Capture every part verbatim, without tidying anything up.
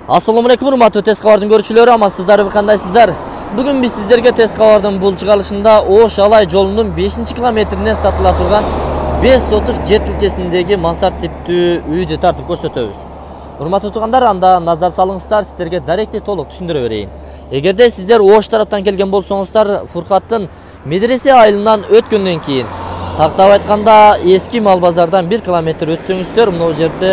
Assalamu alaikum урматтуу Тез кабардын көрүүчүлөрү, амансыздарбы, кандайсыздар? Бүгүн биз сиздерге Тез кабардын бул чыгарылышында Ош Алай жолунун бешинчи километрине сатыла турган беш сотук жер тилкесиндеги мансард типтүү үйдү тартып көрсөтөбүз. Урматтуу туугандар, анда назар салыңыздар, сиздерге даректи толук түшүндүрө берейин. Эгерде сиздер Ош тараптан келген болсоңуздар, Фуркаттын медресе айылынан өткөндөн кийин, тактап айтканда эски мал базардан бир километр өтсөңүздөр, мына жерде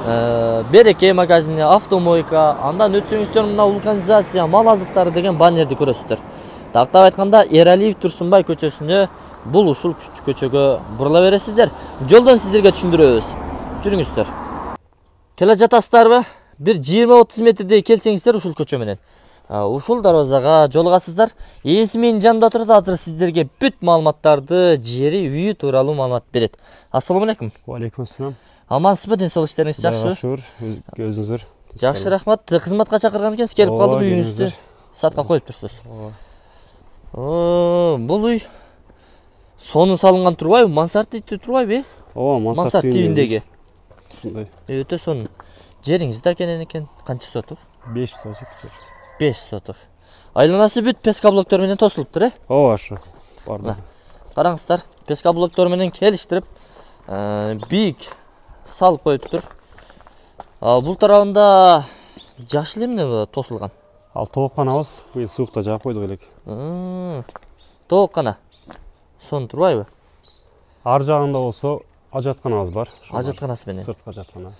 Береке магазини, автомойка, андан өтсөңүздөр мына вулканизация, мал азыктары деген баннерди көрөсүздөр. Тактап айтканда Эралиев Турсунбай көчөсүнө, бул ушул көчөгө бурула бересиздер. Жолдон сиздерге түшүндүрөбүз. Жүрүңүздөр. Келе жатасыздарбы? Бир жыйырма отуз метрдей келсеңиздер ушул көчө менен ушул дарбазага жолугасыздар. Ээси менин жанымда турат, азыр сиздерге бүт маалыматтарды, жери, үйү тууралуу маалымат берет. Ассаламу алейкум. Ва алейкум ассалам. Амансызбы, ден соолук иштериңиз жакшыбы? Жакшы, өзүңүздөр. Жакшы, рахмат. Кызматка чакырган экенсиз, келип калдым, үйүңүздү сатка коюп турсуз. О, бул үй сонун салынган турбайбы? Мансард типтүү турбайбы? Ооба, мансард тибиндеги. Ушундай. Өтө сонун. Жериңиз да кенен экен. Канча сотук? беш сотук жер. беш сотук. Айланасы бүт песка блоктор менен тосулуптур, э? Ооба, ашы. Барды. Караңыздар, песка блоктор менен келиштирип, бийик салып коюптур. Бул тарабында жаш эле эмне тосулган? Ал тоокканабыз, быйыл суукта жаап койдук элек. Тооккана. Сонун турбайбы? Ар жагында болсо ажатканабыз бар. Ажатканасы менен. Сырткы ажаткана.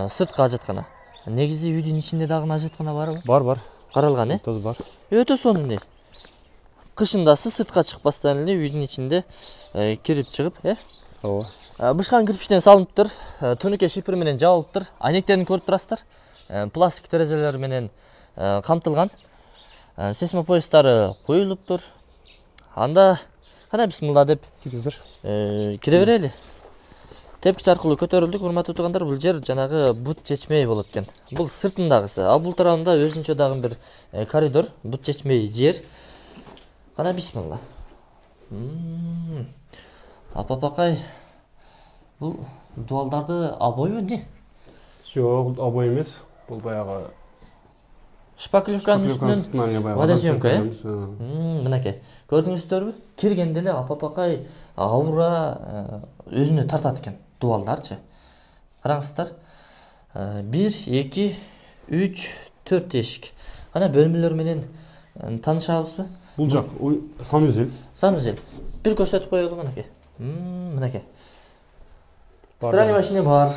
Сырткы ажаткана. Негизи үйдүн ичинде дагы ажаткана барбы? Бар, бар. Каралган, э? Тоз бар. Өтө сонун үй. Кышындасы сыртка чыкпастан эле үйдүн ичинде кирип чыгып, э? Ооба. Бышкан кирпичтен салыныптыр, түнүккө шипер менен жабылыптыр. Айнектерин көрүп турасыздар. Пластик терезелер менен камтылган. Сейсмопоястары коюлуптур. Анда кана бисмилла деп киргиздер. Кире берели. Тепкич аркылуу көтөрүлдүк, урматтуу туугандар. Бул жер жанагы бут чечмей болот экен. Бул сыртындагысы. А бул тарабында өзүнчө дагы бир коридор, бут чечмей жер. Кана бисмилла. Апапакай, бул дуалдарды обойбу не? Жок, обой эмес. Бул баягы шпаклевканын үстүнөн водосъемка, э? Мынакей. Көрдүңүздөрбү? Киргенде эле апапакай аура өзүнө тартат экен, дуалдарчы. Караңыздар. бир, эки, үч, төрт эшик. Кана бөлмөлөр менен таанышабызбы? Бул жак санузел. Санузел. Бир көрсөтүп коелу мынакей. Мынакей. Стиральный машина бар,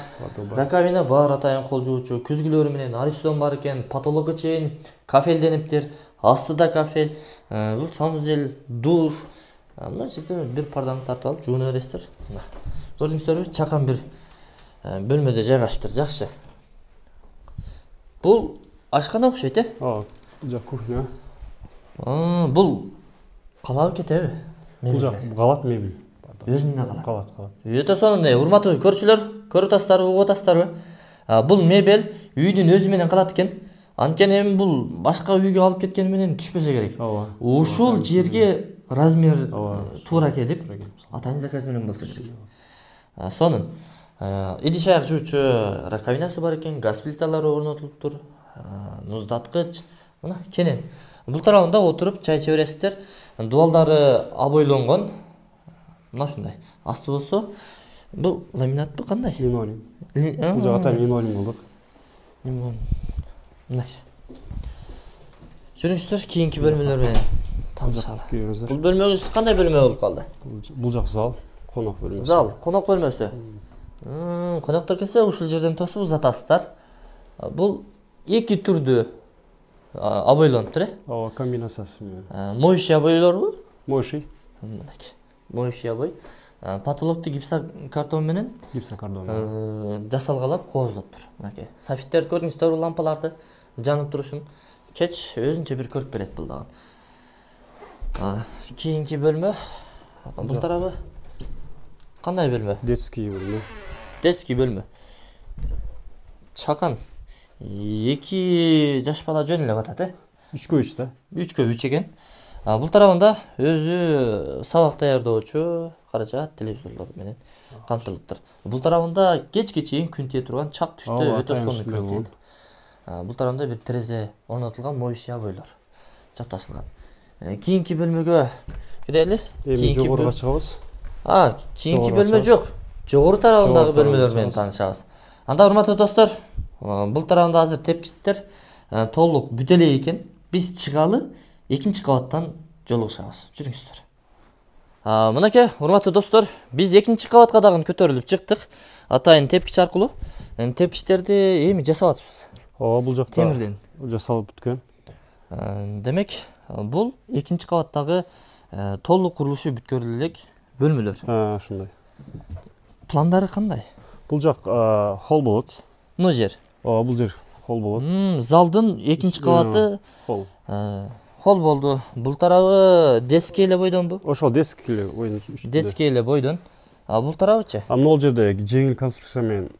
раковина бар, атайын кол жуучу, күзгүлөрү менен аристон бар экен, потолокко чейин кафелдениптир, астыда кафель, бул санузел, душ. Мына жерде бир парданы тартып алып жууна бересиздер. Көрдүңүздөрбү? Чакан бир бөлмөдө жайгашыптыр, жакшы. Бул ашкана окшойт, э? Ооба, жак кухня. Бул калабы кетеби? Бул жак калат мебель. Өзүнө калат. Калат, калат. Өтө сонун, урматтуу көрүүчүлөр, көрүп атасыздарбы, угуп атасыздарбы? Бул мебель үйдүн өзү менен калат экен. Анткени эми бул башка үйгө алып кеткени менен түшпөсө керек. Ооба. Ушул жерге размер туура келип, атайын заказ менен болсо керек. Сонун. Идиш аяк жуучу раковинасы бар экен, газ плиталары орнотулуптур, муздаткыч. Мына кенен. Бул тарабында отуруп чай иче бересиздер. Дуалдары обойлонгон. Мына ушундай. Асты болсо, бул ламинатпы, кандай? Линолеум. Бул жак атайын линолеум кылдык. Мына. Жүрүңүздөр, кийинки бөлмөлөр менен таанышалы. Бул бөлмөңүз кандай бөлмө болуп калды? Бул жак зал, конок бөлмөсү. Зал, конок бөлмөсү. Коноктор келсе, ушул жерден тосуп узатасыздар. Бул эки түрдүү обойлонуптур, э? Ооба, комбинациясы менен. Моющий обойлорбу? Моющий. Мынакей. Моющий обой. Потолокту гипсокартон менен гипсокартон жасалгалап кооздоптур. Мынакей. Софиттерди көрдүңүздөрбү, лампаларды жанып турушун. Кеч өзүнчө бир көрүп берет бул дагы. Кийинки бөлмө. Бул тарабы кандай бөлмө? Детский бөлмө. Детский бөлмө. Чакан. Эки жаш бала жөн эле батат, э? үчкө үч да. үчкө үч экен. Бул тарабында өзү сабак даярдоочу каражат, телевизорлор менен камтылыптыр. Бул тарабында кечке чейин күн тие турган чак түштө өтө сонун күн тиет. Бул тарабында бир терезе орнотулган, моюш ябойлор чапташылган. Кийинки бөлмөгө кирели. Эми жогоруга чыгабыз. А, кийинки бөлмө жок. Жогору тарабындагы бөлмөлөр менен таанышабыз. Анда урматтуу достор, бул тарабында азыр тепкичтер толук бүтө элек экен. Биз чыгалы экинчи кабаттан жолугушабыз. Жүрүңүздөр. Мынакей, урматтуу достор, биз экинчи кабатка дагы көтөрүлүп чыктык. Атайын тепкич аркылуу. Тепкичтерди эми жасап атабыз. Ооба, бул жакта темирден жасалып бүткөн. Демек, бул экинчи кабаттагы толук курулушу бүткөрүлө элек бөлмөлөр. Ошондой. Пландары кандай? Бул жак холл болот. Мына жер. Ооба, бул жер холл болот. Залдын экинчи кабаты холл. Холл болду. Бул тарабы детский эле бойдонбу? Ошол детский эле бойдон. Детский эле бойдон. А бул тарабычы? А могул жерде жеңил конструкция менен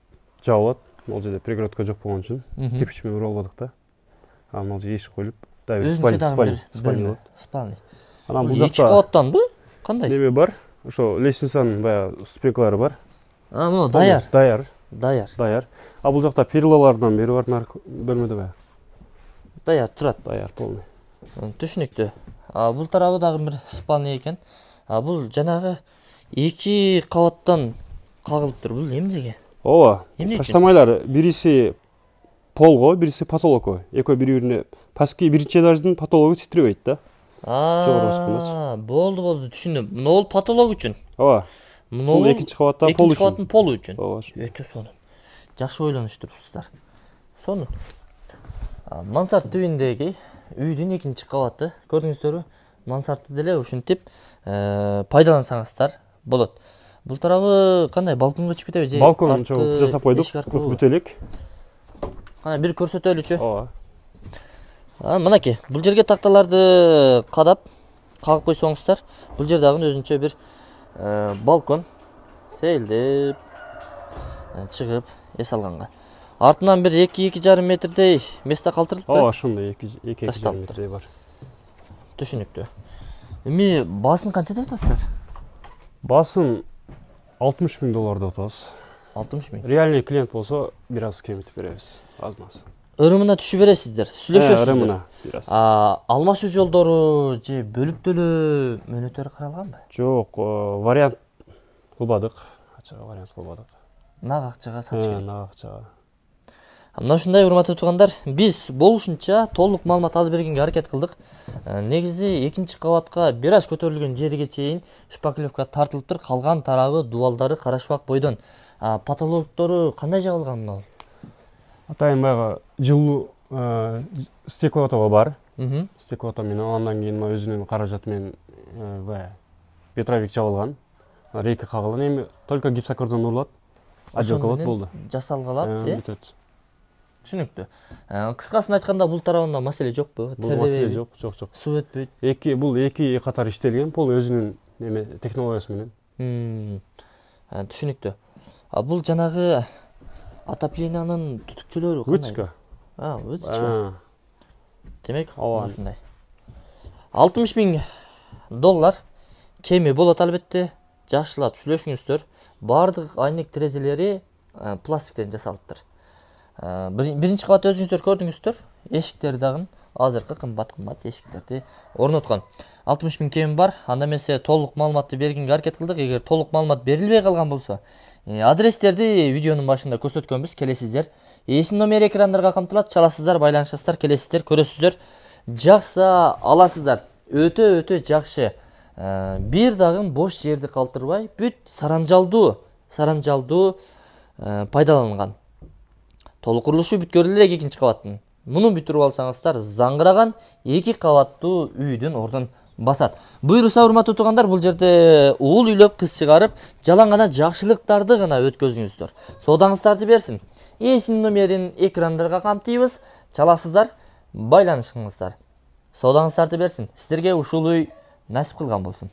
жабылат. Могул жерде перегородка жок болгон үчүн кирпич менен уралбадык да. А могул жерде эшик коюлуп, дагы спальня, спальня. Спальня. Анан бул жакта эки кабаттанбы? Кандай? Неме бар? Ошо лестницанын баягы ступенькалары бар. А, мына даяр. Даяр. Даяр. Даяр. А бул жакта перилалардан бери бар нар бөлмөдө баягы. Даяр турат. Даяр полный. Түшүнүктүү. А бул тарабы дагы бир спальня экен. А бул жанагы эки кабаттан кагылыптыр. Бул эмнеге? Ооба. Таштамайлар, бириси полго, бириси потолокко. Экөө бири-бирине паски биринчи этаждын потологу титиребейт да. А, болду, болду, түшүндүм. Мына бул потолок үчүн. Ооба. Бул экинчи кабаттан пол үчүн. Экинчи кабаттын полу үчүн. Ооба. Өтө сонун. Жакшы ойлонуштурсуздар. Сонун. Мансард түбүндөгү үйдүн экинчи кабаты, көрдүңүздөрбү? Мансардты деле ушинтип пайдалансаңыздар болот. Бул тарабы кандай, балконго чыгып кетеби же? Балкон чогуу жасап койдук, бүтө элек. Кана бир көрсөтөлүчү. Ооба. Мынакей, бул жерге такталарды кадап, кагып койсоңуздар, бул жер дагы өзүнчө бир балкон сейилдеп чыгып эс алганга. Артынан бир эки-эки жарым метрдей место калтырылыпты. Ооба, ошондой эки-эки жарым метрдей бар. Түшүнүктүү. Эми баасын канча деп атасыздар? Баасын алтымыш миң доллар деп атабыз. алтымыш миң. Реальный клиент болсо бир аз кемитип беребиз, аз-маз. Ырымына түшүп бересиздер, сүйлөшөсүздөр. Ырымына бир аз. Алмашуу жолдору же бөлүп төлөө мөөнөттөрү каралганбы? Жок, вариант кылбадык. Ачык вариант кылбадык. Нак акчага сатыш керек. Нак акчага. Мына ушундай урматтуу туугандар, биз болушунча толук маалымат алып бергенге аракет кылдык. Негизи экинчи кабатка бир аз көтөрүлгөн жерге чейин шпаклевка тартылыптыр, калган тарабы дубалдары карашбак бойдон. Потолоктору кандай жабылган мына? Атайын баягы жылуу стеклотоо бар. Мм. Стеклото менен андан кийин өзүнүн каражаты менен баягы ветровик жабылган. Рейка кагылган, эми только гипсокартон урулат. Отделкалат болду. Жасалгалап, э? Бүтөт. Түшүнүктүү. Кыскасын айтканда бул тарабында маселе жокпу? Бул маселе жок, жок, жок. Суу өтпөйт. Эки бул эки катар иштелген, бул өзүнүн неме технологиясы менен. Түшүнүктүү. А бул жанагы отоплениянын түтүкчөлөрү кандай? Вытяжка. А, вытяжка. Демек, ушундай. алтымыш миң доллар кеми болот албетте. Жакшылап сүйлөшүңүздөр. Бардык айнек терезелери пластиктен жасалыптыр. Биринчи кабат өзүңүздөр көрдүңүздөр. Эшиктери дагы азыркы кымбат-кымбат эшиктерди орноткон. алтымыш миң кеми бар. Анда эмесе толук маалыматты бергенге аракет кылдык. Эгер толук маалымат берилбей калган болсо, адрестерди видеонун башында көрсөткөнбүз, келесиздер. Эсин номер экрандарга камтылат, чаласыздар, байланышасыздар, келесиздер, көрөсүздөр. Жакса аласыздар. Өтө өтө жакшы. Бир дагы бош жерди калтырбай, бүт сарамжалдуу, сарамжалдуу пайдаланган. Толук курулушу бүткөрүлө элек экинчи кабаттын. Муну бүтүрүп алсаңыздар, заңгыраган эки кабаттуу үйдүн ордун басат. Буйруса, урматтуу туугандар, бул жерде уул үйлөп, кыз чыгарып, жалаң гана жакшылыктарды гана өткөзүңүздөр. Соодаңыздарды берсин. Эсин номерин экрандарга камтыйбыз, чаласыздар, байланышыңыздар. Соодаңыздарды берсин. Сиздерге ушул үй насип кылган болсун.